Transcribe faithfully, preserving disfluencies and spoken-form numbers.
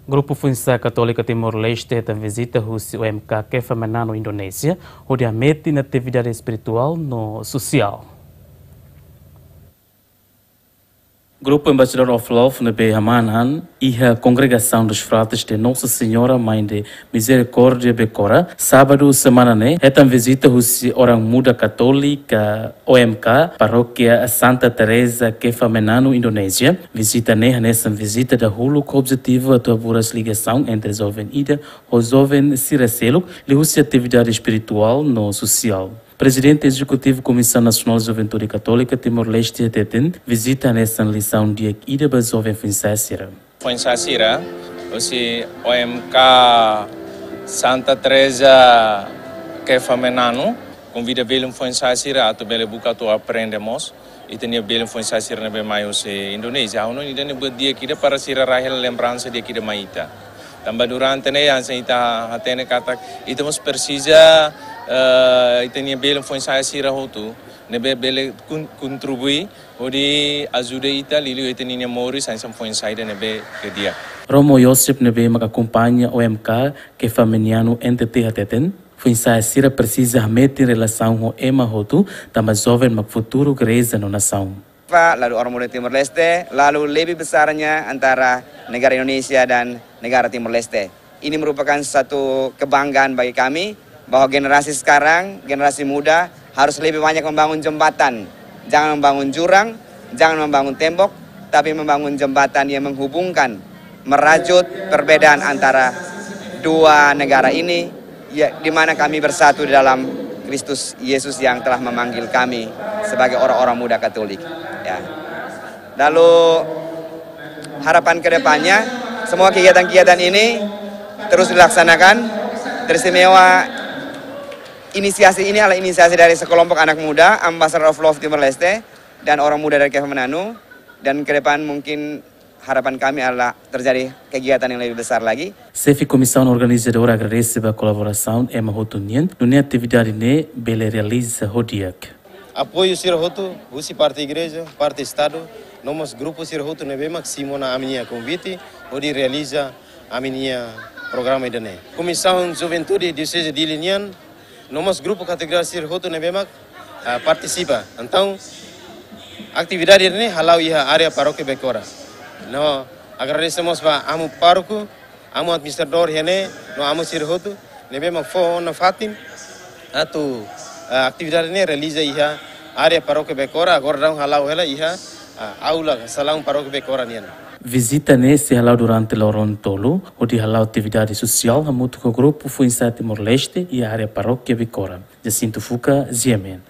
Grupu Foinsa'e Katólika Timor-Leste hetan vizita husi O M K Kefa Meunanu Indonézia, hodi hametin atividade espirituál no sosiál. Grupu Ambassador of Love ne'ebé hamanan iha Congregação dos Fratres de Nossa Senhora Mãe de Misericórdia Becora, sábadu semana ne'e, hetan vizita husi orang muda katólika O M K, Parókia Santa Teresa Kefa Meunanu Indonézia. Vizita ne'e hanesan vizita dahuluk ho objetivu atu haburas ligasaun entre joven ida ho joven sira seluk, liuhusi atividade espirituál no sosiál. Prezidente Ezekutivu Komisaun Nasionál Juventude Katólika Timor-Leste hateten, vizita hanesan lisaun di'ak ida ba joven foinsa'e sira. Foinsa'e sira, husi O M K Santa Teresa Kefa Meunanu, konvida belun foinsa'e sira atu bele buka atu aprende mós. Ita-nia belun foinsa'e sira ne'ebé mai husi Indonézia. Ha'u hanoin ida-ne'e buat di'ak ida para sira rai hela lembransa di'ak ida mai ita. Tanba durante ne'e hanesan ita hatene katak ita mós presiza, eh, ita-nia belun foinsa'e sira hotu ne'ebé bele kon-, kontribui hodi ajuda ita liuliu ita-nia moris hanesan foinsa'e ida ne'ebé ke di'ak. Romo Yosep ne'ebé mak akompaña O M K Kefa Meunanu N T T hateten, foinsa'e sira presiza hametin relasaun ho ema hotu, tanba joven mak futuru gereja no nasaun. Pak, lalu orang muda Timor Leste, lalu lebih besarnya antara negara Indonesia dan negara Timor Leste. Ini merupakan satu kebanggaan bagi kami bahwa generasi sekarang, generasi muda harus lebih banyak membangun jembatan. Jangan membangun jurang, jangan membangun tembok, tapi membangun jembatan yang menghubungkan, merajut perbedaan antara dua negara ini, ya, di mana kami bersatu di dalam Kristus Yesus yang telah memanggil kami sebagai orang-orang muda Katolik. Ya. Lalu harapan ke depannya, semua kegiatan-kegiatan ini terus dilaksanakan. Teristimewa inisiasi ini adalah inisiasi dari sekelompok anak muda, Ambassador of Love Timor Leste, dan orang muda dari Kefa Meunanu. Dan ke depan mungkin harapan kami adalah terjadi kegiatan yang lebih besar lagi. Xefe Komisaun Organizadora agradese ba kolaborasaun ema hotu nian, nune'e atividade ne'e bele realiza ho di'ak. Apoiu sira hotu, husi parte igreja, parte estadu, no mós grupu sira hotu ne'ebé mak simu ona ami-nia konvite, hodi realiza ami-nia programa ida-ne'e. Komisaun Juventude Dioseze Dili nian, no mós grupu katedrál sira hotu ne'ebé mak, ah, partisipa. Entaun, atividade ne'e hala'o iha área parókia Becora. No, agradese mós ba amu pároku, amu administradór iha ne'e, no amu sira hotu ne'ebé mak fó ona fatin atu, ah, atividade ne'e realiza iha área parókia Becora, agora daudaun hala'o hela iha, ah, aula salaun parókia Becora nian. Vizita ne'e sei hala'o durante loron tolu, hodi hala'o atividade sosiál hamutuk ho grupu foinsa'e Timor-Leste iha área parókia Becora. Jacinto Fuca, G M N.